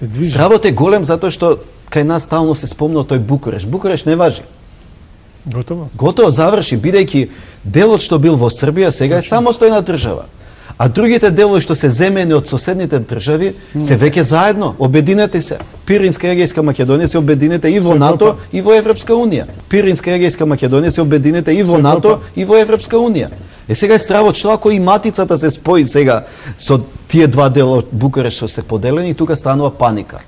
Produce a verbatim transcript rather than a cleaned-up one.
се движи. Стравот е голем затоа што кај нас стално се спомна тој Букуреш. Букуреш не важи. Готово. Готово заврши, бидејќи делот што бил во Србија сега е самостојна држава. А другите делови што се земени од соседните држави се веќе заедно. Обединете се. Пиринска и Егејска Македонија се обединете и во НАТО и во Европска унија. Пиринска и Егејска Македонија се обединете и во НАТО и во Европска унија. Е сега е стравот што ако и матицата се спои сега со тие два дела од Букуреш што се поделени, тука станува паника.